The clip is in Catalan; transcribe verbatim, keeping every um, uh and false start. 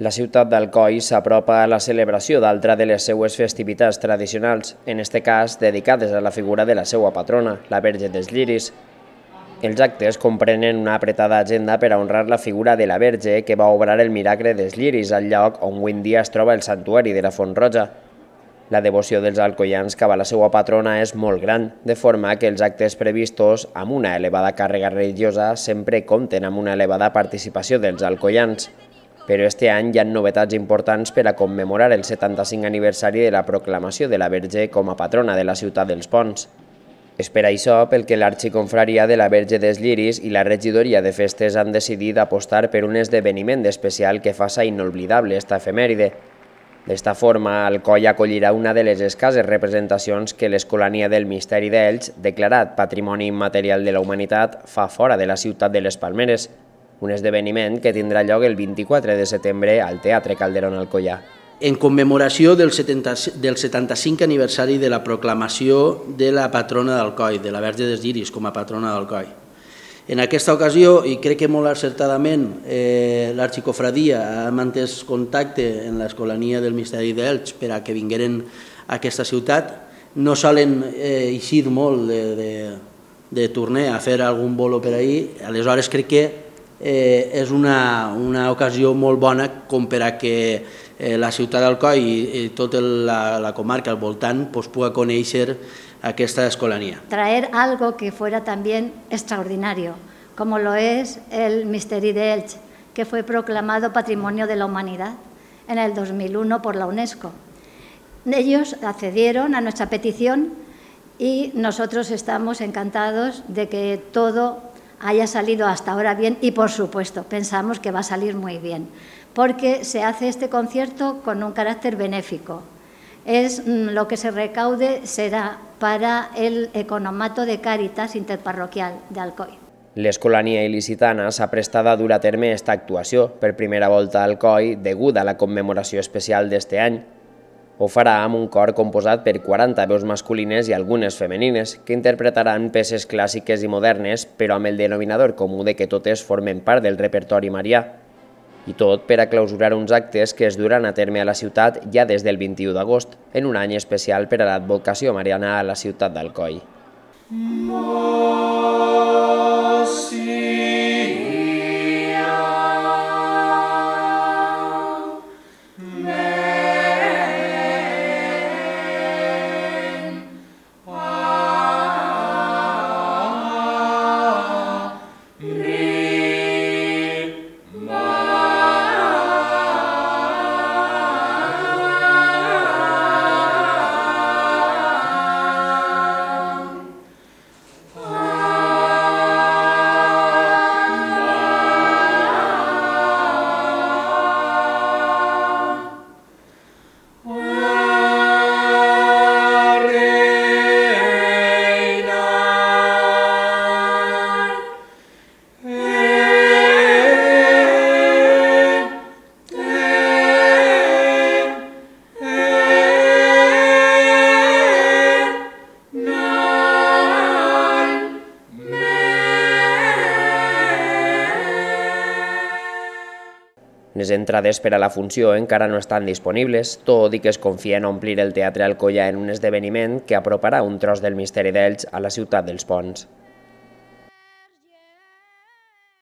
La ciutat d'Alcoi s'apropa a la celebració d'altra de les seues festivitats tradicionals, en este cas dedicades a la figura de la seva patrona, la Verge dels Lliris. Els actes comprenen una apretada agenda per a honrar la figura de la Verge que va obrar el miracle dels lliris al lloc on avui en dia es troba el santuari de la Font Roja. La devoció dels alcoians cap a la seva patrona és molt gran, de forma que els actes previstos amb una elevada càrrega religiosa sempre compten amb una elevada participació dels alcoians. Però este any hi ha novetats importants per a commemorar el setanta-cinc aniversari de la proclamació de la Verge com a patrona de la ciutat dels Ponts. És per això pel que l'Arxiconfraria de la Verge dels Lliris i la Regidoria de Festes han decidit apostar per un esdeveniment especial que faça inoblidable esta efemèride. D'esta forma, Alcoi acollirà una de les escasses representacions que l'Escolania del Misteri d'Elx, declarat Patrimoni Immaterial de la Humanitat, fa fora de la ciutat de les Palmeres, un esdeveniment que tindrà lloc el vint-i-quatre de setembre al Teatre Calderón Alcoià. En commemoració del setanta-cinc aniversari de la proclamació de la patrona d'Alcoi, de la Verge dels Lliris com a patrona d'Alcoi. En aquesta ocasió, i crec que molt acertadament, eh, l'Arxicofradia ha mantès contacte amb l'Escolania del Misteri d'Elx per a que vingueren a aquesta ciutat. No solen eh, eixir molt de, de, de tornar a fer algun bolo per ahir, aleshores crec que eh, és una, una ocasió molt bona com per a que eh, la ciutat d'Alcoi i, i tota la, la comarca al voltant pues, pugui conèixer aquesta escolania. Traer algo que fuera también extraordinario, como lo es el Misteri d'Elx, que fue proclamado Patrimonio de la Humanidad en el dos mil uno por la UNESCO. Ellos accedieron a nuestra petición y nosotros estamos encantados de que todo haya salido hasta ahora bien y, por supuesto, pensamos que va a salir muy bien, porque se hace este concierto con un carácter benéfico. Es lo que se recaude será para el economato de Càritas interparroquial d'Alcoi. L'Escolania il·licitana s'ha prestat a dur a terme aquesta actuació per primera volta a Alcoi deguda a la commemoració especial d'este any. Ho farà amb un cor composat per quaranta veus masculines i algunes femenines que interpretaran peces clàssiques i modernes però amb el denominador comú de que totes formen part del repertori marià. I tot per a clausurar uns actes que es duran a terme a la ciutat ja des del vint-i-u d'agost, en un any especial per a l'advocació mariana a la ciutat d'Alcoi. Les entrades per a la funció encara no estan disponibles, tot i que es confia en omplir el Teatre Alcoià en un esdeveniment que aproparà un tros del Misteri d'Elx a la ciutat dels Ponts.